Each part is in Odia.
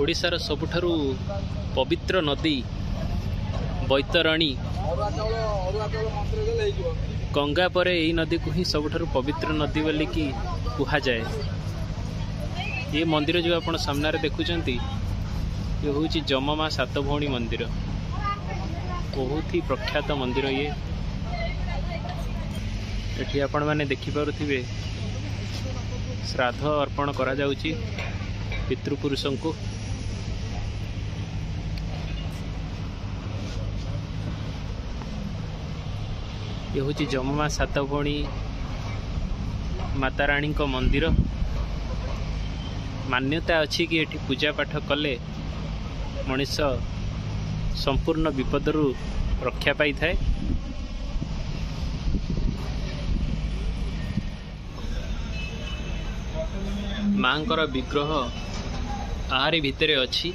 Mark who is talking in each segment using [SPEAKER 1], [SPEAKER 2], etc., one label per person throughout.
[SPEAKER 1] ଓଡ଼ିଶାର ସବୁଠାରୁ ପବିତ୍ର ନଦୀ ବୈତରଣୀ, ଗଙ୍ଗା ପରେ ଏଇ ନଦୀକୁ ହିଁ ସବୁଠାରୁ ପବିତ୍ର ନଦୀ ବୋଲିକି କୁହାଯାଏ। ଏ ମନ୍ଦିର ଯେଉଁ ଆପଣ ସାମ୍ନାରେ ଦେଖୁଛନ୍ତି, ଇଏ ହେଉଛି ଯମମା ସାତ ଭଉଣୀ ମନ୍ଦିର। ବହୁତ ହି ପ୍ରଖ୍ୟାତ ମନ୍ଦିର ଇଏ। ଏଠି ଆପଣମାନେ ଦେଖିପାରୁଥିବେ ଶ୍ରାଦ୍ଧ ଅର୍ପଣ କରାଯାଉଛି ପିତୃପୁରୁଷଙ୍କୁ। ଇଏ ହେଉଛି ଯମମା ସାତ ଭଉଣୀ ମାତାରାଣୀଙ୍କ ମନ୍ଦିର। ମାନ୍ୟତା ଅଛି କି ଏଠି ପୂଜା ପାଠ କଲେ ମଣିଷ ସମ୍ପୂର୍ଣ୍ଣ ବିପଦରୁ ରକ୍ଷା ପାଇଥାଏ। ମାଙ୍କର ବିଗ୍ରହ ଆହାରି ଭିତରେ ଅଛି।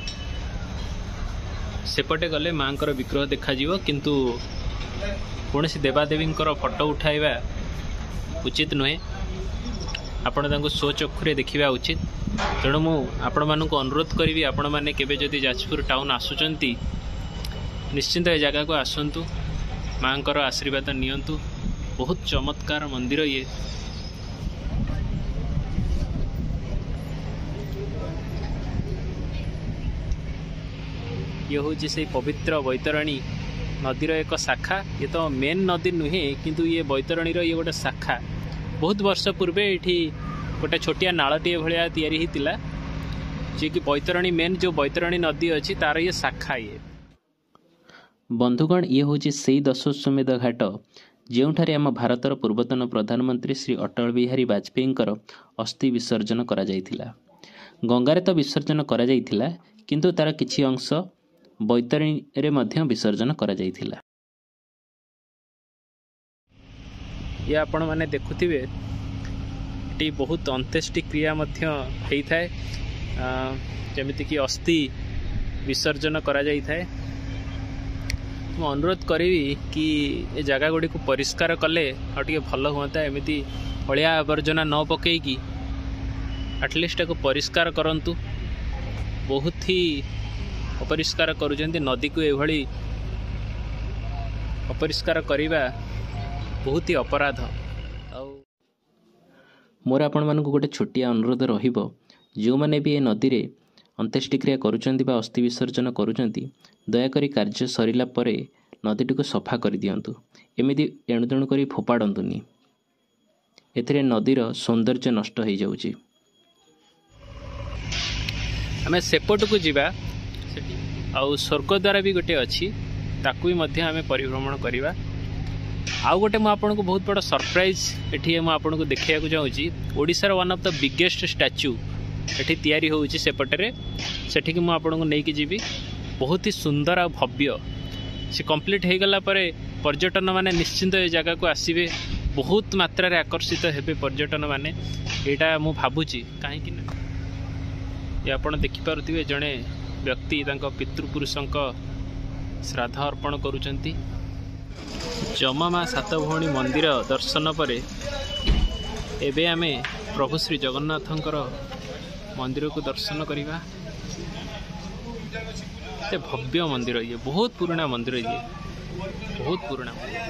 [SPEAKER 1] ସେପଟେ ଗଲେ ମାଙ୍କର ବିଗ୍ରହ ଦେଖାଯିବ, କିନ୍ତୁ କୌଣସି ଦେବାଦେବୀଙ୍କର ଫଟୋ ଉଠାଇବା ଉଚିତ ନୁହେଁ। ଆପଣ ତାଙ୍କୁ ସ୍ୱଚକ୍ଷୁରେ ଦେଖିବା ଉଚିତ। ତେଣୁ ମୁଁ ଆପଣମାନଙ୍କୁ ଅନୁରୋଧ କରିବି, ଆପଣମାନେ କେବେ ଯଦି ଯାଜପୁର ଟାଉନ୍ ଆସୁଛନ୍ତି, ନିଶ୍ଚିନ୍ତ ଏ ଜାଗାକୁ ଆସନ୍ତୁ, ମାଙ୍କର ଆଶୀର୍ବାଦ ନିଅନ୍ତୁ। ବହୁତ ଚମତ୍କାର ମନ୍ଦିର ଇଏ। ଇଏ ହେଉଛି ସେଇ ପବିତ୍ର ବୈତରଣୀ ନଦୀର ଏକ ଶାଖା। ଇଏ ତ ମେନ୍ ନଦୀ ନୁହେଁ, କିନ୍ତୁ ଇଏ ବୈତରଣୀର ଇଏ ଗୋଟେ ଶାଖା। ବହୁତ ବର୍ଷ ପୂର୍ବେ ଏଇଠି ଗୋଟେ ଛୋଟିଆ ନାଳଟିଏ ଭଳିଆ ତିଆରି ହେଇଥିଲା, ଯିଏକି ବୈତରଣୀ ମେନ୍ ଯେଉଁ ବୈତରଣୀ ନଦୀ ଅଛି ତାର ଇଏ ଶାଖା ଇଏ।
[SPEAKER 2] ବନ୍ଧୁଗଣ, ଇଏ ହେଉଛି ସେଇ ଦଶାଶ୍ୱମେଧ ଘାଟ ଯେଉଁଠାରେ ଆମ ଭାରତର ପୂର୍ବତନ ପ୍ରଧାନମନ୍ତ୍ରୀ ଶ୍ରୀ ଅଟଳ ବିହାରୀ ବାଜପେୟୀଙ୍କର ଅସ୍ଥି ବିସର୍ଜନ କରାଯାଇଥିଲା। ଗଙ୍ଗାରେ ତ ବିସର୍ଜନ କରାଯାଇଥିଲା, କିନ୍ତୁ ତାର କିଛି ଅଂଶ ବୈତରଣୀରେ ମଧ୍ୟ ବିସର୍ଜନ କରାଯାଇଥିଲା।
[SPEAKER 1] ଇଏ ଆପଣମାନେ ଦେଖୁଥିବେ ଏଠି ବହୁତ ଅନ୍ତ୍ୟେଷ୍ଟି କ୍ରିୟା ମଧ୍ୟ ହେଇଥାଏ, ଯେମିତିକି ଅସ୍ଥି ବିସର୍ଜନ କରାଯାଇଥାଏ। ମୁଁ ଅନୁରୋଧ କରିବି କି ଏ ଜାଗା ଗୁଡ଼ିକୁ ପରିଷ୍କାର କଲେ ଆଉ ଟିକେ ଭଲ ହୁଅନ୍ତା। ଏମିତି ଅଳିଆ ଆବର୍ଜନା ନ ପକେଇକି ଆଟଲିଷ୍ଟ ତାକୁ ପରିଷ୍କାର କରନ୍ତୁ। ବହୁତ ହି ଅପରିଷ୍କାର କରୁଛନ୍ତି ନଦୀକୁ। ଏଭଳି ଅପରିଷ୍କାର କରିବା ବହୁତ ହି ଅପରାଧ। ଆଉ
[SPEAKER 2] ମୋର ଆପଣମାନଙ୍କୁ ଗୋଟେ ଛୋଟିଆ ଅନୁରୋଧ ରହିବ, ଯେଉଁମାନେ ବି ଏ ନଦୀରେ ଅନ୍ତ୍ୟେଷ୍ଟିକ୍ରିୟା କରୁଛନ୍ତି ବା ଅସ୍ଥି ବିସର୍ଜନ କରୁଛନ୍ତି, ଦୟାକରି କାର୍ଯ୍ୟ ସରିଲା ପରେ ନଦୀଟିକୁ ସଫା କରିଦିଅନ୍ତୁ। ଏମିତି ଏଣୁତେଣୁ କରି ଫୋପାଡ଼ନ୍ତୁନି, ଏଥିରେ ନଦୀର ସୌନ୍ଦର୍ଯ୍ୟ ନଷ୍ଟ ହେଇଯାଉଛି।
[SPEAKER 1] ଆମେ ସେପଟକୁ ଯିବା, ସେଠି ଆଉ ସ୍ୱର୍ଗଦ୍ୱାର ବି ଗୋଟେ ଅଛି, ତାକୁ ବି ମଧ୍ୟ ଆମେ ପରିଭ୍ରମଣ କରିବା। ଆଉ ଗୋଟେ ମୁଁ ଆପଣଙ୍କୁ ବହୁତ ବଡ଼ ସରପ୍ରାଇଜ୍ ଏଠି ମୁଁ ଆପଣଙ୍କୁ ଦେଖେଇବାକୁ ଚାହୁଁଛି। ଓଡ଼ିଶାର one of the biggest statue ଏଠି ତିଆରି ହେଉଛି ସେପଟରେ, ସେଠିକି ମୁଁ ଆପଣଙ୍କୁ ନେଇକି ଯିବି। ବହୁତ ହି ସୁନ୍ଦର ଆଉ ଭବ୍ୟ। ସେ କମ୍ପ୍ଲିଟ୍ ହେଇଗଲା ପରେ ପର୍ଯ୍ୟଟନମାନେ ନିଶ୍ଚିନ୍ତ ଏ ଜାଗାକୁ ଆସିବେ, ବହୁତ ମାତ୍ରାରେ ଆକର୍ଷିତ ହେବେ ପର୍ଯ୍ୟଟନମାନେ, ଏଇଟା ମୁଁ ଭାବୁଛି। କାହିଁକି ନା ଏ ଆପଣ ଦେଖିପାରୁଥିବେ ଜଣେ ବ୍ୟକ୍ତି ତାଙ୍କ ପିତୃପୁରୁଷଙ୍କ ଶ୍ରାଦ୍ଧ ଅର୍ପଣ କରୁଛନ୍ତି। ଯମମା ସାତ ଭଉଣୀ ମନ୍ଦିର ଦର୍ଶନ ପରେ ଏବେ ଆମେ ପ୍ରଭୁ ଶ୍ରୀ ଜଗନ୍ନାଥଙ୍କର ମନ୍ଦିରକୁ ଦର୍ଶନ କରିବା। ଏତେ ଭବ୍ୟ ମନ୍ଦିର ଇଏ, ବହୁତ ପୁରୁଣା ମନ୍ଦିର ଇଏ, ବହୁତ ପୁରୁଣା ମନ୍ଦିର।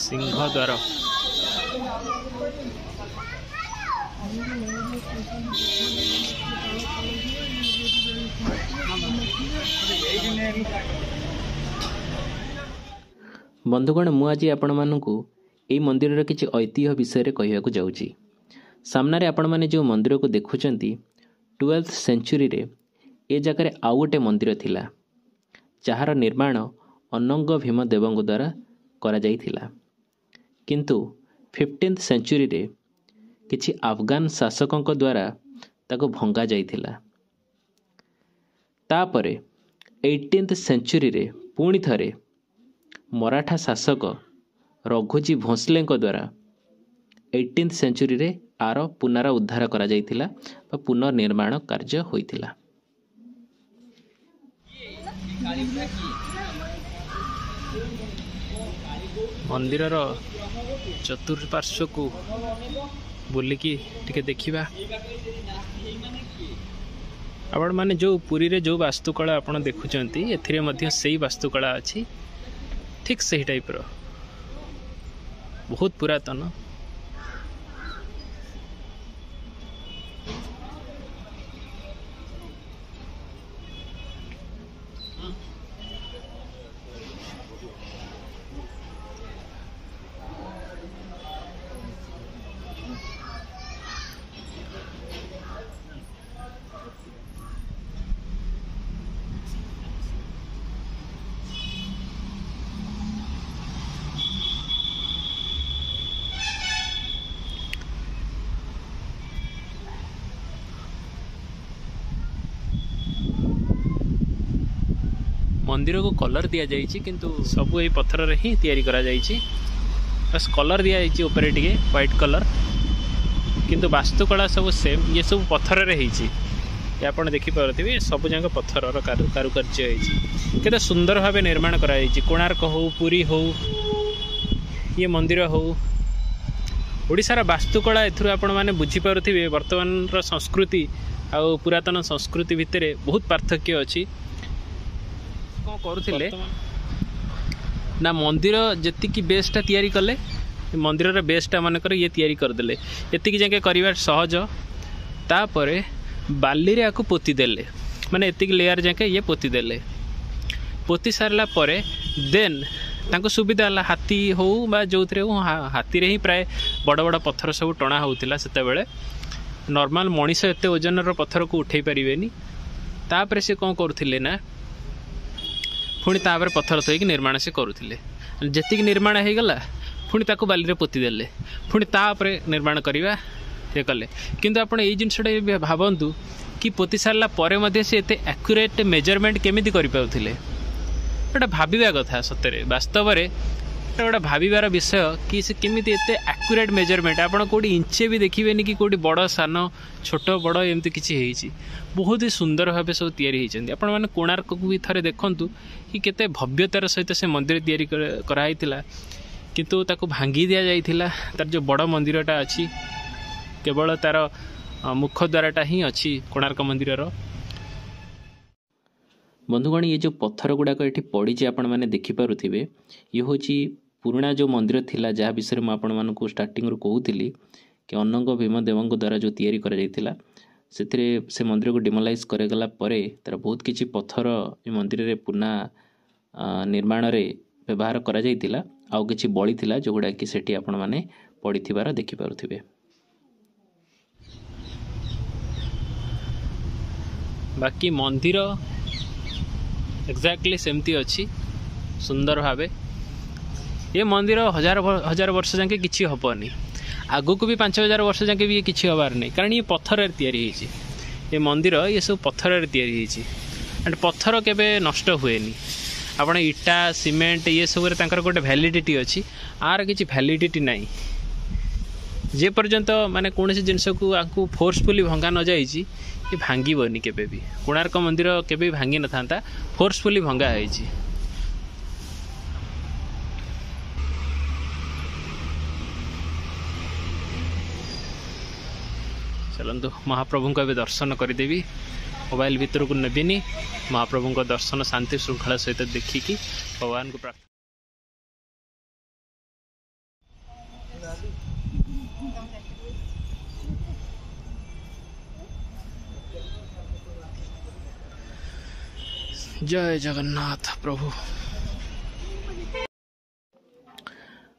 [SPEAKER 1] ସିଂହଦ୍ୱାର।
[SPEAKER 2] ବନ୍ଧୁଗଣ, ମୁଁ ଆଜି ଆପଣମାନଙ୍କୁ ଏଇ ମନ୍ଦିରର କିଛି ଐତିହ୍ୟ ବିଷୟରେ କହିବାକୁ ଯାଉଛି। ସାମ୍ନାରେ ଆପଣମାନେ ଯେଉଁ ମନ୍ଦିରକୁ ଦେଖୁଛନ୍ତି, 12th ସେଞ୍ଚୁରୀରେ ଏ ଜାଗାରେ ଆଉ ଗୋଟେ ମନ୍ଦିର ଥିଲା, ଯାହାର ନିର୍ମାଣ ଅନଙ୍ଗ ଭୀମ ଦେବଙ୍କ ଦ୍ୱାରା କରାଯାଇଥିଲା। କିନ୍ତୁ 15th ସେଞ୍ଚୁରୀରେ କିଛି ଆଫଗାନ ଶାସକଙ୍କ ଦ୍ୱାରା ତାକୁ ଭଙ୍ଗା ଯାଇଥିଲା। ତାପରେ 18th ସେଞ୍ଚୁରୀରେ ପୁଣି ଥରେ ମରାଠା ଶାସକ ରଘୁଜୀ ଭୋଁସଲେଙ୍କ ଦ୍ୱାରା 18th ସେଞ୍ଚୁରୀରେ ଆର ପୁନରୁଦ୍ଧାର କରାଯାଇଥିଲା ବା ପୁନର୍ନିର୍ମାଣ କାର୍ଯ୍ୟ ହୋଇଥିଲା।
[SPEAKER 1] ମନ୍ଦିରର ଚତୁଃପାର୍ଶ୍ୱକୁ ବୁଲିକି ଟିକେ ଦେଖିବା। ଆପଣମାନେ ଯେଉଁ ପୁରୀରେ ଯେଉଁ ବାସ୍ତୁକଳା ଆପଣ ଦେଖୁଛନ୍ତି, ଏଥିରେ ମଧ୍ୟ ସେଇ ବାସ୍ତୁକଳା ଅଛି, ଠିକ୍ ସେହି ଟାଇପ୍ର, ବହୁତ ପୁରାତନ। ମନ୍ଦିରକୁ କଲର୍ ଦିଆଯାଇଛି, କିନ୍ତୁ ସବୁ ଏଇ ପଥରରେ ହିଁ ତିଆରି କରାଯାଇଛି। ବାସ୍ କଲର୍ ଦିଆଯାଇଛି ଉପରେ ଟିକେ ହ୍ୱାଇଟ୍ କଲର୍, କିନ୍ତୁ ବାସ୍ତୁକଳା ସବୁ ସେମ୍। ଇଏ ସବୁ ପଥରରେ ହେଇଛି, ଏ ଆପଣ ଦେଖିପାରୁଥିବେ ସବୁ ଯାକ ପଥରର କାରୁକାର୍ଯ୍ୟ ହେଇଛି। କେତେ ସୁନ୍ଦର ଭାବେ ନିର୍ମାଣ କରାଯାଇଛି। କୋଣାର୍କ ହଉ, ପୁରୀ ହଉ, ଇଏ ମନ୍ଦିର ହଉ, ଓଡ଼ିଶାର ବାସ୍ତୁକଳା ଏଥିରୁ ଆପଣମାନେ ବୁଝିପାରୁଥିବେ ବର୍ତ୍ତମାନର ସଂସ୍କୃତି ଆଉ ପୁରାତନ ସଂସ୍କୃତି ଭିତରେ ବହୁତ ପାର୍ଥକ୍ୟ ଅଛି। କ'ଣ କରୁଥିଲେ ନା, ମନ୍ଦିର ଯେତିକି ବେସ୍ଟା ତିଆରି କଲେ, ମନ୍ଦିରର ବେସ୍ଟା ମନେକର ଇଏ ତିଆରି କରିଦେଲେ, ଏତିକି ଯାକେ କରିବା ସହଜ। ତାପରେ ବାଲିରେ ଆକୁ ପୋତି ଦେଲେ, ମାନେ ଏତିକି ଲେୟାର ଯାକେ ଇଏ ପୋତି ଦେଲେ। ପୋତି ସାରିଲା ପରେ ଦେନ୍ ତାଙ୍କୁ ସୁବିଧା ହେଲା, ହାତୀ ହଉ ବା ଯେଉଁଥିରେ ହଉ, ହାତୀରେ ହିଁ ପ୍ରାୟ ବଡ଼ ବଡ଼ ପଥର ସବୁ ଟଣା ହେଉଥିଲା ସେତେବେଳେ। ନର୍ମାଲ ମଣିଷ ଏତେ ଓଜନର ପଥରକୁ ଉଠେଇ ପାରିବେନି। ତାପରେ ସେ କ'ଣ କରୁଥିଲେ ନା, ପୁଣି ତାପରେ ପଥର ଥୋଇକି ନିର୍ମାଣ ସେ କରୁଥିଲେ। ଯେତିକି ନିର୍ମାଣ ହେଇଗଲା, ପୁଣି ତାକୁ ବାଲିରେ ପୋତି ଦେଲେ, ପୁଣି ତା ଉପରେ ନିର୍ମାଣ କରିବା ଇଏ କଲେ। କିନ୍ତୁ ଆପଣ ଏଇ ଜିନିଷଟା ବି ଭାବନ୍ତୁ କି ପୋତି ସାରିଲା ପରେ ମଧ୍ୟ ସେ ଏତେ ଆକ୍ୟୁରେଟ୍ ମେଜରମେଣ୍ଟ କେମିତି କରିପାରୁଥିଲେ? ଏଇଟା ଭାବିବା କଥା ସତରେ, ବାସ୍ତବରେ ଏଇଟା ଗୋଟେ ଭାବିବାର ବିଷୟ କି ସେ କେମିତି ଏତେ ଆକ୍ୟୁରେଟ୍ ମେଜରମେଣ୍ଟ। ଆପଣ କେଉଁଠି ଇଞ୍ଚେ ବି ଦେଖିବେନି କି କେଉଁଠି ବଡ଼ ସାନ ଛୋଟ ବଡ଼ ଏମିତି କିଛି ହେଇଛି। ବହୁତ ହି ସୁନ୍ଦର ଭାବେ ସବୁ ତିଆରି ହେଇଛନ୍ତି। ଆପଣମାନେ କୋଣାର୍କକୁ ବି ଥରେ ଦେଖନ୍ତୁ କି କେତେ ଭବ୍ୟତାର ସହିତ ସେ ମନ୍ଦିର ତିଆରି କରାହେଇଥିଲା, କିନ୍ତୁ ତାକୁ ଭାଙ୍ଗି ଦିଆଯାଇଥିଲା। ତାର ଯେଉଁ ବଡ଼ ମନ୍ଦିରଟା ଅଛି, କେବଳ ତାର ମୁଖ ଦ୍ୱାରଟା ହିଁ ଅଛି କୋଣାର୍କ ମନ୍ଦିରର।
[SPEAKER 2] ବନ୍ଧୁଗଣ, ଇଏ ଯେଉଁ ପଥର ଗୁଡ଼ାକ ଏଠି ପଡ଼ିଛି ଆପଣମାନେ ଦେଖିପାରୁଥିବେ, ଇଏ ହେଉଛି ପୁରୁଣା ଯେଉଁ ମନ୍ଦିର ଥିଲା, ଯାହା ବିଷୟରେ ମୁଁ ଆପଣମାନଙ୍କୁ ଷ୍ଟାର୍ଟିଂରୁ କହୁଥିଲି କି ଅନଙ୍ଗ ଭୀମଦେବଙ୍କ ଦ୍ୱାରା ଯେଉଁ ତିଆରି କରାଯାଇଥିଲା। ସେଥିରେ ସେ ମନ୍ଦିରକୁ ଡିମୋଲାଇଜ୍ କରାଗଲା ପରେ ତା'ର ବହୁତ କିଛି ପଥର ଏ ମନ୍ଦିରରେ ପୁନଃ ନିର୍ମାଣରେ ବ୍ୟବହାର କରାଯାଇଥିଲା। ଆଉ କିଛି ବଳିଥିଲା ଯେଉଁଗୁଡ଼ାକି ସେଠି ଆପଣମାନେ ପଡ଼ିଥିବାର ଦେଖିପାରୁଥିବେ।
[SPEAKER 1] ବାକି ମନ୍ଦିର ଏକ୍ଜାକ୍ଟଲି ସେମିତି ଅଛି ସୁନ୍ଦର ଭାବେ। ଏ ମନ୍ଦିର ହଜାର ହଜାର ବର୍ଷ ଯାକେ କିଛି ହେବନି, ଆଗକୁ ବି 5000 ବର୍ଷ ଯାକେ ବି କିଛି ହେବାର ନାହିଁ, କାରଣ ଇଏ ପଥରରେ ତିଆରି ହେଇଛି। ଏ ମନ୍ଦିର ଇଏ ସବୁ ପଥରରେ ତିଆରି ହେଇଛି, ଆଣ୍ଡ ପଥର କେବେ ନଷ୍ଟ ହୁଏନି। ଆପଣ ଇଟା ସିମେଣ୍ଟ ଇଏ ସବୁରେ ତାଙ୍କର ଗୋଟେ ଭ୍ୟାଲିଡ଼ିଟି ଅଛି, ଆର କିଛି ଭ୍ୟାଲିଡ଼ିଟି ନାହିଁ। ଯେ ପର୍ଯ୍ୟନ୍ତ ମାନେ କୌଣସି ଜିନିଷକୁ ଆକୁ ଫୋର୍ସଫୁଲି ଭଙ୍ଗା ନଯାଇଛି, ଏ ଭାଙ୍ଗିବନି କେବେ ବି। କୋଣାର୍କ ମନ୍ଦିର କେବେ ବି ଭାଙ୍ଗି ନଥାନ୍ତା, ଫୋର୍ସଫୁଲି ଭଙ୍ଗା ହେଇଛି। ଚାଲନ୍ତୁ ମହାପ୍ରଭୁଙ୍କୁ ଏବେ ଦର୍ଶନ କରିଦେବି, ମୋବାଇଲ ଭିତରକୁ ନେବିନି। ମହାପ୍ରଭୁଙ୍କ ଦର୍ଶନ ଶାନ୍ତି ଶୃଙ୍ଖଳା ସହିତ ଦେଖିକି ଭଗବାନଙ୍କୁ ପ୍ରାର୍ଥନା। ଜୟ ଜଗନ୍ନାଥ ପ୍ରଭୁ।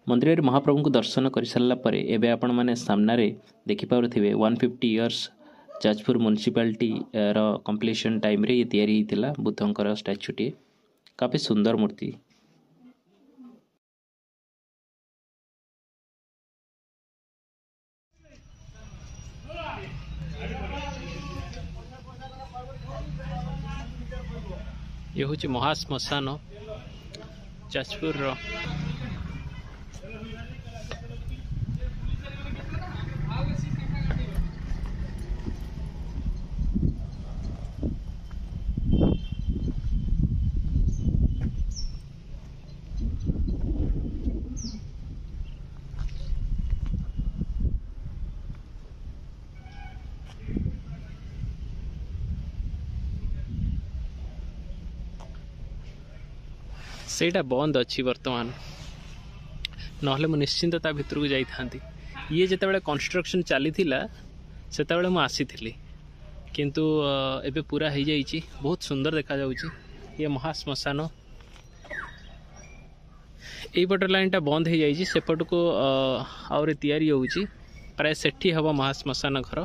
[SPEAKER 2] ମନ୍ଦିରରେ ମହାପ୍ରଭୁଙ୍କୁ ଦର୍ଶନ କରିସାରିଲା ପରେ ଏବେ ଆପଣମାନେ ସାମ୍ନାରେ ଦେଖିପାରୁଥିବେ 150 ଇୟର୍ସ ଯାଜପୁର ମ୍ୟୁନିସିପାଲିଟିର କମ୍ପ୍ଲିସନ୍ ଟାଇମ୍ରେ ଇଏ ତିଆରି ହେଇଥିଲା ବୁଦ୍ଧଙ୍କର ଷ୍ଟାଚ୍ୟୁଟିଏ। କାଫି ସୁନ୍ଦର ମୂର୍ତ୍ତି।
[SPEAKER 1] ଇଏ ହେଉଛି ମହାଶ୍ମଶାନ ଯାଜପୁରର। ସେଇଟା ବନ୍ଦ ଅଛି ବର୍ତ୍ତମାନ, ନହେଲେ ମୁଁ ନିଶ୍ଚିନ୍ତ ତା ଭିତରକୁ ଯାଇଥାନ୍ତି। ଇଏ ଯେତେବେଳେ କନଷ୍ଟ୍ରକ୍ସନ୍ ଚାଲିଥିଲା ସେତେବେଳେ ମୁଁ ଆସିଥିଲି, କିନ୍ତୁ ଏବେ ପୁରା ହେଇଯାଇଛି, ବହୁତ ସୁନ୍ଦର ଦେଖାଯାଉଛି। ଇଏ ମହାଶ୍ମଶାନ। ଏଇପଟ ଲାଇନ୍ଟା ବନ୍ଦ ହେଇଯାଇଛି, ସେପଟକୁ ଆହୁରି ତିଆରି ହେଉଛି, ପ୍ରାୟ ସେଠି ହେବ ମହାଶ୍ମଶାନ ଘର।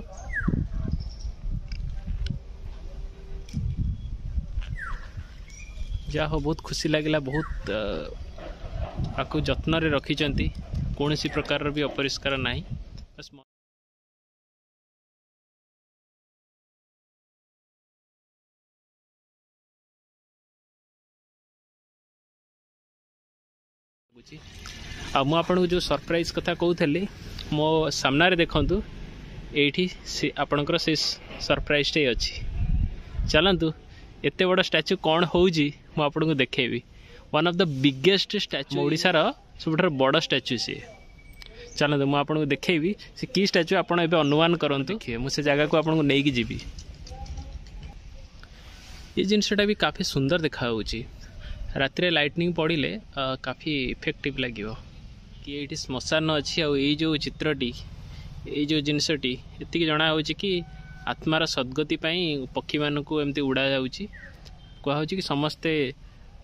[SPEAKER 1] ଯାହା ହଉ, ବହୁତ ଖୁସି ଲାଗିଲା, ବହୁତ ଆକୁ ଯତ୍ନରେ ରଖିଛନ୍ତି, କୌଣସି ପ୍ରକାରର ବି ଅପରିଷ୍କାର ନାହିଁ। ବାସ୍ ଲାଗୁଛି। ଆଉ ମୁଁ ଆପଣଙ୍କୁ ଯେଉଁ ସରପ୍ରାଇଜ୍ କଥା କହୁଥିଲି, ମୋ ସାମ୍ନାରେ ଦେଖନ୍ତୁ, ଏଇଠି ସେ ଆପଣଙ୍କର ସେ ସରପ୍ରାଇଜ୍ଟେ ଅଛି। ଚାଲନ୍ତୁ, ଏତେ ବଡ଼ ଷ୍ଟାଚ୍ୟୁ କ'ଣ ହେଉଛି ମୁଁ ଆପଣଙ୍କୁ ଦେଖେଇବି। One of the biggest statue, ଓଡ଼ିଶାର ସବୁଠାରୁ ବଡ଼ ଷ୍ଟାଚ୍ୟୁ ସିଏ। ଚାଲନ୍ତୁ, ମୁଁ ଆପଣଙ୍କୁ ଦେଖେଇବି ସେ କି ଷ୍ଟାଚ୍ୟୁ, ଆପଣ ଏବେ ଅନୁମାନ କରନ୍ତୁ। ଦେଖିବେ, ମୁଁ ସେ ଜାଗାକୁ ଆପଣଙ୍କୁ ନେଇକି ଯିବି। ଏ ଜିନିଷଟା ବି କାଫି ସୁନ୍ଦର ଦେଖାଯାଉଛି, ରାତିରେ ଲାଇଟନିଂ ପଡ଼ିଲେ କାଫି ଇଫେକ୍ଟିଭ୍ ଲାଗିବ। କି ଏଇଠି ଶ୍ମଶାନ ଅଛି, ଆଉ ଏଇ ଯେଉଁ ଚିତ୍ରଟି, ଏଇ ଯେଉଁ ଜିନିଷଟି, ଏତିକି ଜଣା ହେଉଛି କି ଆତ୍ମାର ସଦ୍ଗତି ପାଇଁ ପକ୍ଷୀମାନଙ୍କୁ ଏମିତି ଉଡ଼ାଯାଉଛି। କୁହାହେଉଛି କି ସମସ୍ତେ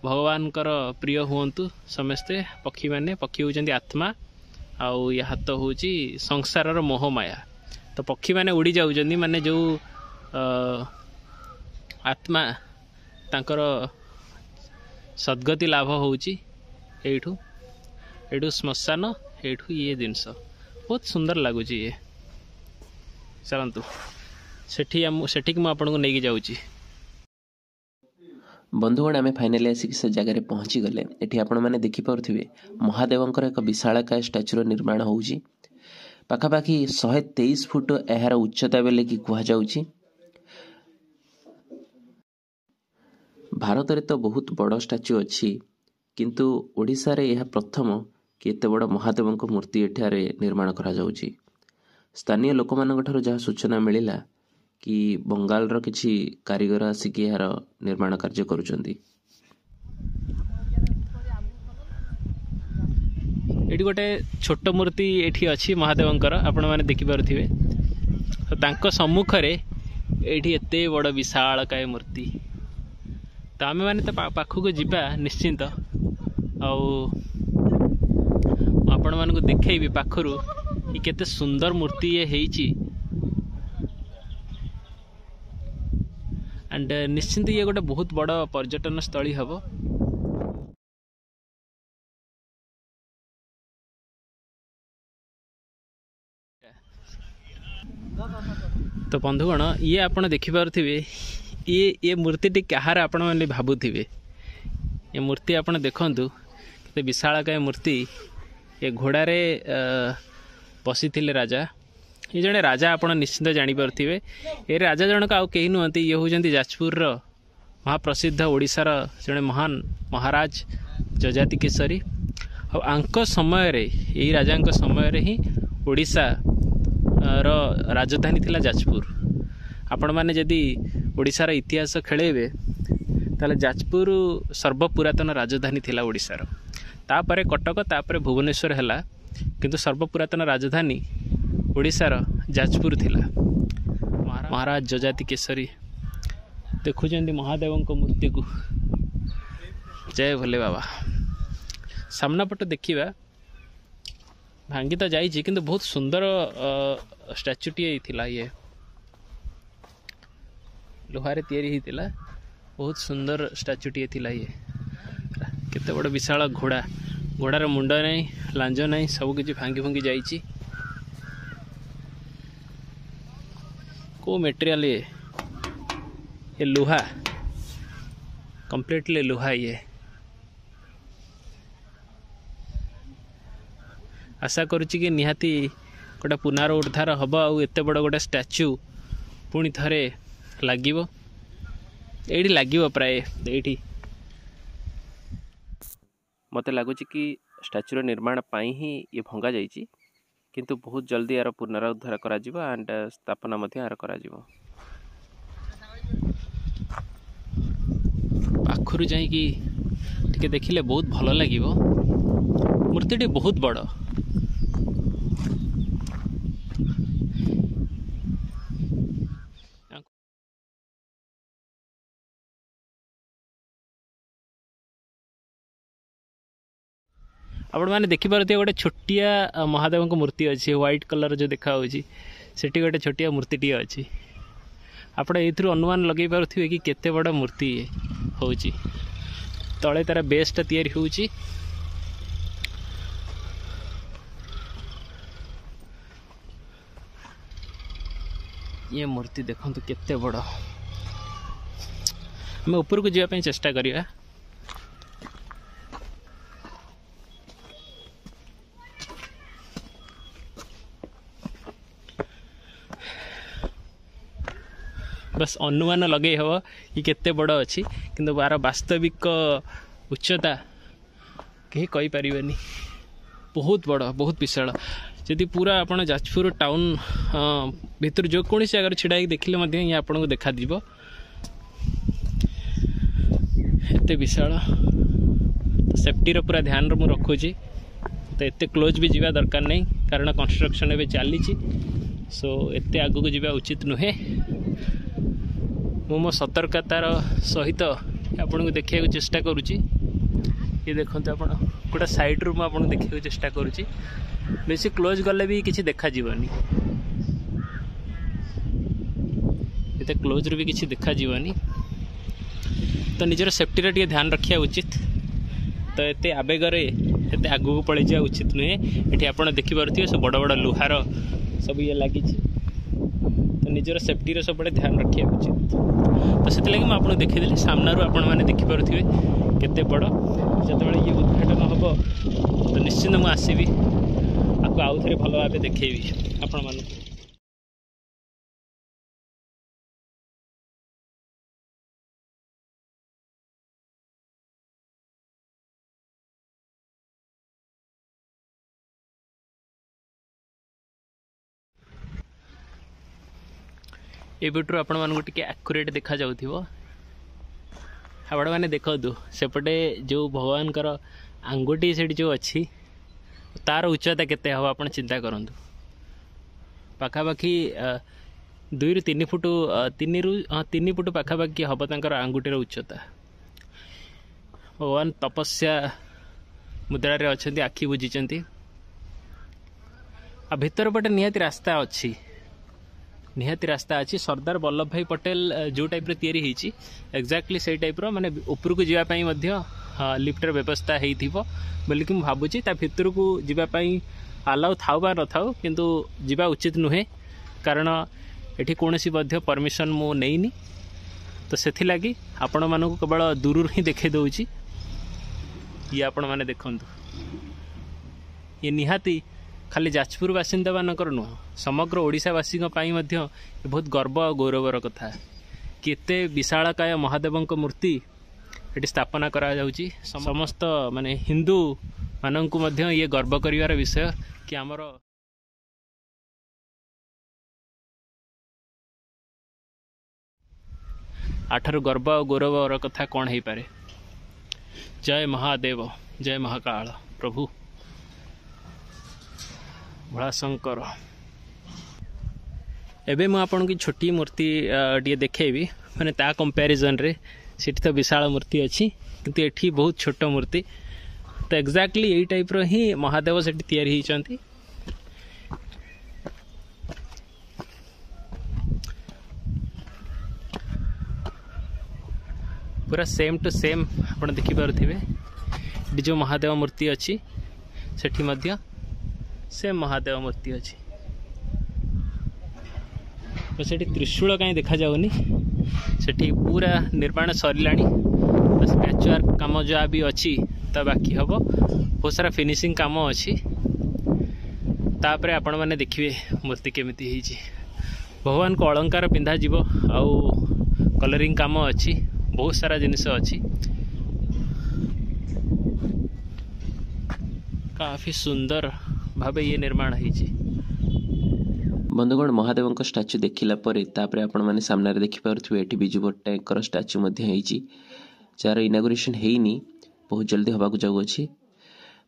[SPEAKER 1] ଭଗବାନଙ୍କର ପ୍ରିୟ ହୁଅନ୍ତୁ, ସମସ୍ତେ ପକ୍ଷୀମାନେ। ପକ୍ଷୀ ହେଉଛନ୍ତି ଆତ୍ମା, ଆଉ ଇଏ ହାତ ହେଉଛି ସଂସାରର ମୋହମାୟା। ତ ପକ୍ଷୀମାନେ ଉଡ଼ି ଯାଉଛନ୍ତି, ମାନେ ଯେଉଁ ଆତ୍ମା ତାଙ୍କର ସଦ୍ଗତି ଲାଭ ହେଉଛି ଏଇଠୁ। ଏଇଠୁ ଶ୍ମଶାନ, ଏଇଠୁ ଇଏ ଜିନିଷ ବହୁତ ସୁନ୍ଦର ଲାଗୁଛି ଇଏ। ଚାଲନ୍ତୁ ସେଠି, ଆମ ସେଠିକି ମୁଁ ଆପଣଙ୍କୁ ନେଇକି ଯାଉଛି।
[SPEAKER 2] ବନ୍ଧୁଗଣ, ଆମେ ଫାଇନାଲି ଆସିକି ସେ ଜାଗାରେ ପହଞ୍ଚିଗଲେ। ଏଠି ଆପଣମାନେ ଦେଖିପାରୁଥିବେ ମହାଦେବଙ୍କର ଏକ ବିଶାଳକାୟ ଷ୍ଟାଚୁର ନିର୍ମାଣ ହେଉଛି। ପାଖାପାଖି 123 ଫୁଟ ଏହାର ଉଚ୍ଚତା ବୋଲିକି କୁହାଯାଉଛି। ଭାରତରେ ତ ବହୁତ ବଡ଼ ଷ୍ଟାଚୁ ଅଛି, କିନ୍ତୁ ଓଡ଼ିଶାରେ ଏହା ପ୍ରଥମ କି ଏତେ ବଡ଼ ମହାଦେବଙ୍କ ମୂର୍ତ୍ତି ଏଠାରେ ନିର୍ମାଣ କରାଯାଉଛି। ସ୍ଥାନୀୟ ଲୋକମାନଙ୍କ ଠାରୁ ଯାହା ସୂଚନା ମିଳିଲା କି ବଙ୍ଗାଳର କିଛି କାରିଗର ଆସିକି ଏହାର ନିର୍ମାଣ କାର୍ଯ୍ୟ କରୁଛନ୍ତି।
[SPEAKER 1] ଏଠି ଗୋଟେ ଛୋଟ ମୂର୍ତ୍ତି ଏଠି ଅଛି ମହାଦେବଙ୍କର, ଆପଣମାନେ ଦେଖିପାରୁଥିବେ। ତ ତାଙ୍କ ସମ୍ମୁଖରେ ଏଇଠି ଏତେ ବଡ଼ ବିଶାଳକାୟ ମୂର୍ତ୍ତି। ତ ଆମେମାନେ ତ ପାଖକୁ ଯିବା ନିଶ୍ଚିନ୍ତ, ଆଉ ମୁଁ ଆପଣମାନଙ୍କୁ ଦେଖେଇବି ପାଖରୁ କି କେତେ ସୁନ୍ଦର ମୂର୍ତ୍ତି ଇଏ ହେଇଛି। ଆଣ୍ଡ ନିଶ୍ଚିନ୍ତ ଇଏ ଗୋଟେ ବହୁତ ବଡ଼ ପର୍ଯ୍ୟଟନ ସ୍ଥଳୀ ହେବ। ତ ବନ୍ଧୁଗଣ, ଇଏ ଆପଣ ଦେଖିପାରୁଥିବେ, ଇଏ ମୂର୍ତ୍ତିଟି କାହାର ଆପଣମାନେ ଭାବୁଥିବେ। ଏ ମୂର୍ତ୍ତି ଆପଣ ଦେଖନ୍ତୁ, କେତେ ବିଶାଳକାୟ ମୂର୍ତ୍ତି। ଏ ଘୋଡ଼ାରେ ବସିଥିଲେ ରାଜା। ଏ ଜଣେ ରାଜା, ଆପଣ ନିଶ୍ଚିନ୍ତ ଜାଣିପାରୁଥିବେ। ଏ ରାଜା ଜଣକ ଆଉ କେହି ନୁହନ୍ତି, ଇଏ ହେଉଛନ୍ତି ଯାଜପୁରର ମହାପ୍ରସିଦ୍ଧ ଓଡ଼ିଶାର ଜଣେ ମହାନ ମହାରାଜ ଯଯାତି କେଶରୀ। ଆଉ ଆଙ୍କ ସମୟରେ, ଏଇ ରାଜାଙ୍କ ସମୟରେ ହିଁ ଓଡ଼ିଶାର ରାଜଧାନୀ ଥିଲା ଯାଜପୁର। ଆପଣମାନେ ଯଦି ଓଡ଼ିଶାର ଇତିହାସ ଖେଳେଇବେ, ତାହେଲେ ଯାଜପୁର ସର୍ବପୁରାତନ ରାଜଧାନୀ ଥିଲା ଓଡ଼ିଶାର। ତାପରେ କଟକ, ତାପରେ ଭୁବନେଶ୍ୱର ହେଲା, କିନ୍ତୁ ସର୍ବପୁରାତନ ରାଜଧାନୀ ଓଡ଼ିଶାର ଯାଜପୁର ଥିଲା। ମହାରାଜ ଯଯାତି କେଶରୀ ଦେଖୁଛନ୍ତି ମହାଦେବଙ୍କ ମୂର୍ତ୍ତିକୁ। ଜୟ ଭୋଲେ ବାବା। ସାମ୍ନା ପଟ ଦେଖିବା, ଭାଙ୍ଗି ତ ଯାଇଛି, କିନ୍ତୁ ବହୁତ ସୁନ୍ଦର ଷ୍ଟାଚୁଟିଏ ଥିଲା ଇଏ। ଲୁହାରେ ତିଆରି ହେଇଥିଲା, ବହୁତ ସୁନ୍ଦର ଷ୍ଟାଚୁଟିଏ ଥିଲା ଇଏ। କେତେ ବଡ଼ ବିଶାଳ ଘୋଡ଼ା, ଘୋଡ଼ାର ମୁଣ୍ଡ ନାହିଁ, ଲାଞ୍ଜ ନାହିଁ, ସବୁ କିଛି ଭାଙ୍ଗି ଭୁଙ୍ଗି ଯାଇଛି। କେଉଁ ମେଟେରିଆଲ ଇଏ? ଏ ଲୁହା, କମ୍ପ୍ଲିଟଲି ଲୁହା ଇଏ। ଆଶା କରୁଛି କି ନିହାତି ଗୋଟେ ପୁନରୁଦ୍ଧାର ହେବ, ଆଉ ଏତେ ବଡ଼ ଗୋଟେ ଷ୍ଟାଚ୍ୟୁ ପୁଣି ଥରେ ଲାଗିବ ଏଇଠି, ଲାଗିବ ପ୍ରାୟ ଏଇଠି।
[SPEAKER 2] ମୋତେ ଲାଗୁଛି କି ଷ୍ଟାଚ୍ୟୁର ନିର୍ମାଣ ପାଇଁ ହିଁ ଇଏ ଭଙ୍ଗା ଯାଇଛି, କିନ୍ତୁ ବହୁତ ଜଲ୍ଦି ଏହାର ପୁନରୁଦ୍ଧାର କରାଯିବ ଆଣ୍ଡ ସ୍ଥାପନା ମଧ୍ୟ ଏହାର କରାଯିବ।
[SPEAKER 1] ପାଖରୁ ଯାଇକି ଟିକେ ଦେଖିଲେ ବହୁତ ଭଲ ଲାଗିବ। ମୂର୍ତ୍ତିଟି ବହୁତ ବଡ଼। ଆପଣମାନେ ଦେଖିପାରୁଥିବେ ଗୋଟେ ଛୋଟିଆ ମହାଦେବଙ୍କ ମୂର୍ତ୍ତି ଅଛି, ହ୍ୱାଇଟ୍ କଲର୍ ଯେଉଁ ଦେଖାହେଉଛି, ସେଠି ଗୋଟେ ଛୋଟିଆ ମୂର୍ତ୍ତିଟିଏ ଅଛି। ଆପଣ ଏଇଥିରୁ ଅନୁମାନ ଲଗେଇ ପାରୁଥିବେ କି କେତେ ବଡ଼ ମୂର୍ତ୍ତି ହେଉଛି। ତଳେ ତାର ବେସ୍ଟା ତିଆରି ହେଉଛି। ଇଏ ମୂର୍ତ୍ତି ଦେଖନ୍ତୁ କେତେ ବଡ଼। ଆମେ ଉପରକୁ ଯିବା ପାଇଁ ଚେଷ୍ଟା କରିବା। ବାସ୍ ଅନୁମାନ ଲଗେଇ ହେବ କି କେତେ ବଡ଼ ଅଛି, କିନ୍ତୁ ଆର ବାସ୍ତବିକ ଉଚ୍ଚତା କେହି କହିପାରିବେନି। ବହୁତ ବଡ଼, ବହୁତ ବିଶାଳ। ଯଦି ପୁରା ଆପଣ ଯାଜପୁର ଟାଉନ୍ ଭିତରୁ ଯେକୌଣସି ଜାଗାରେ ଛିଡ଼ା ହେଇକି ଦେଖିଲେ ମଧ୍ୟ ଇଏ ଆପଣଙ୍କୁ ଦେଖାଯିବ, ଏତେ ବିଶାଳ। ସେଫ୍ଟିର ପୁରା ଧ୍ୟାନରେ ମୁଁ ରଖୁଛି, ତ ଏତେ କ୍ଲୋଜ୍ ବି ଯିବା ଦରକାର ନାହିଁ, କାରଣ କନଷ୍ଟ୍ରକ୍ସନ୍ ଏବେ ଚାଲିଛି। ସୋ ଏତେ ଆଗକୁ ଯିବା ଉଚିତ ନୁହେଁ। ମୁଁ ମୋ ସତର୍କତାର ସହିତ ଆପଣଙ୍କୁ ଦେଖିବାକୁ ଚେଷ୍ଟା କରୁଛି। ଇଏ ଦେଖନ୍ତୁ ଆପଣ, ଗୋଟେ ସାଇଡ଼ରୁ ମୁଁ ଆପଣଙ୍କୁ ଦେଖିବାକୁ ଚେଷ୍ଟା କରୁଛି। ବେଶୀ କ୍ଲୋଜ୍ ଗଲେ ବି କିଛି ଦେଖାଯିବନି, ଏତେ କ୍ଲୋଜ୍ରୁ ବି କିଛି ଦେଖାଯିବନି। ତ ନିଜର ସେଫ୍ଟିର ଟିକେ ଧ୍ୟାନ ରଖିବା ଉଚିତ। ତ ଏତେ ଆବେଗରେ ଏତେ ଆଗକୁ ପଳେଇଯିବା ଉଚିତ ନୁହେଁ। ଏଠି ଆପଣ ଦେଖିପାରୁଥିବେ ସବୁ ବଡ଼ ବଡ଼ ଲୁହାର ସବୁ ଇଏ ଲାଗିଛି। ତ ନିଜର ସେଫ୍ଟିର ସବୁବେଳେ ଧ୍ୟାନ ରଖିବା ଉଚିତ। ତ ସେଥିଲାଗି ମୁଁ ଆପଣଙ୍କୁ ଦେଖେଇଦେଲି। ସାମ୍ନାରୁ ଆପଣମାନେ ଦେଖିପାରୁଥିବେ କେତେ ବଡ଼। ଯେତେବେଳେ ଇଏ ଉଦ୍ଘାଟନ ହେବ ତ ନିଶ୍ଚିନ୍ତ ମୁଁ ଆସିବି, ଆକୁ ଆଉ ଥରେ ଭଲ ଭାବେ ଦେଖେଇବି ଆପଣମାନଙ୍କୁ। ଏବେଠୁ ଆପଣମାନଙ୍କୁ ଟିକେ ଆକୁରେଟ୍ ଦେଖାଯାଉଥିବ। ଆପଣମାନେ ଦେଖନ୍ତୁ ସେପଟେ ଯେଉଁ ଭଗବାନଙ୍କର ଆଙ୍ଗୁଠି ସେଠି ଯେଉଁ ଅଛି, ତାର ଉଚ୍ଚତା କେତେ ହେବ ଆପଣ ଚିନ୍ତା କରନ୍ତୁ। ପାଖାପାଖି 2ରୁ 3 ଫୁଟ, 3ରୁ 3 ଫୁଟ ପାଖାପାଖି ହେବ ତାଙ୍କର ଆଙ୍ଗୁଠିର ଉଚ୍ଚତା। ଭଗବାନ ତପସ୍ୟା ମୁଦ୍ରାରେ ଅଛନ୍ତି, ଆଖି ବୁଜିଛନ୍ତି। ଆଉ ଭିତର ପଟେ ନିହାତି ରାସ୍ତା ଅଛି, ନିହାତି ରାସ୍ତା ଅଛି। ସର୍ଦ୍ଦାର ବଲ୍ଲଭ ଭାଇ ପଟେଲ ଯେଉଁ ଟାଇପ୍ର ତିଆରି ହେଇଛି, ଏକ୍ଜାକ୍ଟଲି ସେଇ ଟାଇପ୍ର, ମାନେ ଉପରକୁ ଯିବା ପାଇଁ ମଧ୍ୟ ଲିଫ୍ଟର ବ୍ୟବସ୍ଥା ହେଇଥିବ ବୋଲିକି ମୁଁ ଭାବୁଛି। ତା ଭିତରକୁ ଯିବା ପାଇଁ ଆଲାଉ ଥାଉ ବା ନଥାଉ, କିନ୍ତୁ ଯିବା ଉଚିତ ନୁହେଁ, କାରଣ ଏଠି କୌଣସି ମଧ୍ୟ ପରମିସନ୍ ମୁଁ ନେଇନି। ତ ସେଥିଲାଗି ଆପଣମାନଙ୍କୁ କେବଳ ଦୂରରୁ ହିଁ ଦେଖାଇ ଦେଉଛି। ଇଏ ଆପଣମାନେ ଦେଖନ୍ତୁ, ଇଏ ନିହାତି ଖାଲି ଯାଜପୁର ବାସିନ୍ଦାମାନଙ୍କର ନୁହଁ, ସମଗ୍ର ଓଡ଼ିଶାବାସୀଙ୍କ ପାଇଁ ମଧ୍ୟ ବହୁତ ଗର୍ବ ଆଉ ଗୌରବର କଥା। କେତେ ବିଶାଳକାୟ ମହାଦେବଙ୍କ ମୂର୍ତ୍ତି ଏଠି ସ୍ଥାପନା କରାଯାଉଛି। ସମସ୍ତ ମାନେ ହିନ୍ଦୁମାନଙ୍କୁ ମଧ୍ୟ ଇଏ ଗର୍ବ କରିବାର ବିଷୟ କି ଆମର ଆଠାରୁ ଗର୍ବ ଆଉ ଗୌରବର କଥା କ'ଣ ହେଇପାରେ। ଜୟ ମହାଦେବ, ଜୟ ମହାକାଳ ପ୍ରଭୁ ଭୋଳାଶଙ୍କର। ଏବେ ମୁଁ ଆପଣଙ୍କୁ ଛୋଟି ମୂର୍ତ୍ତି ଟିକେ ଦେଖେଇବି, ମାନେ ତା କମ୍ପାରିଜନରେ ସେଠି ତ ବିଶାଳ ମୂର୍ତ୍ତି ଅଛି, କିନ୍ତୁ ଏଠି ବହୁତ ଛୋଟ ମୂର୍ତ୍ତି। ତ ଏକ୍ଜାକ୍ଟଲି ଏଇ ଟାଇପ୍ର ହିଁ ମହାଦେବ ସେଠି ତିଆରି ହେଇଛନ୍ତି। ପୁରା ସେମ୍ ଟୁ ସେମ୍ ଆପଣ ଦେଖିପାରୁଥିବେ। ଏଠି ଯେଉଁ ମହାଦେବ ମୂର୍ତ୍ତି ଅଛି ସେଠି ମଧ୍ୟ ସେମ୍ ମହାଦେବ ମୂର୍ତ୍ତି ଅଛି। ସେଠି ତ୍ରିଶୂଳ କାହିଁ ଦେଖାଯାଉନି, ସେଠି ପୁରା ନିର୍ମାଣ ସରିଲାଣି। ବାସ୍ ପ୍ୟାଚ୍ ୱାର୍କ କାମ ଯାହା ବି ଅଛି ତା ବାକି ହେବ, ବହୁତ ସାରା ଫିନିସିଂ କାମ ଅଛି। ତାପରେ ଆପଣମାନେ ଦେଖିବେ ମୂର୍ତ୍ତି କେମିତି ହେଇଛି। ଭଗବାନଙ୍କୁ ଅଳଙ୍କାର ପିନ୍ଧାଯିବ ଆଉ କଲରିଂ କାମ ଅଛି, ବହୁତ ସାରା ଜିନିଷ ଅଛି। କାଫି ସୁନ୍ଦର ଭାବେ ଇଏ ନିର୍ମାଣ ହେଇଛି।
[SPEAKER 2] ବନ୍ଧୁଗଣ, ମହାଦେବଙ୍କ ଷ୍ଟାଚ୍ୟୁ ଦେଖିଲା ପରେ ତାପରେ ଆପଣମାନେ ସାମ୍ନାରେ ଦେଖିପାରୁଥିବେ ଏଠି ବିଜୁ ପଟ୍ଟନାୟକଙ୍କର ଷ୍ଟାଚ୍ୟୁ ମଧ୍ୟ ହେଇଛି, ଯାହାର ଇନାଗୁରେସନ୍ ହେଇନି। ବହୁତ ଜଲ୍ଦି ହେବାକୁ ଯାଉଅଛି।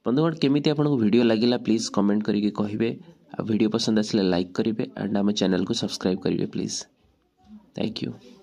[SPEAKER 2] ବନ୍ଧୁଗଣ, କେମିତି ଆପଣଙ୍କୁ ଭିଡ଼ିଓ ଲାଗିଲା, ପ୍ଲିଜ୍ କମେଣ୍ଟ କରିକି କହିବେ। ଆଉ ଭିଡ଼ିଓ ପସନ୍ଦ ଆସିଲେ ଲାଇକ୍ କରିବେ ଆଣ୍ଡ ଆମ ଚ୍ୟାନେଲକୁ ସବସ୍କ୍ରାଇବ୍ କରିବେ ପ୍ଲିଜ୍। Thank you.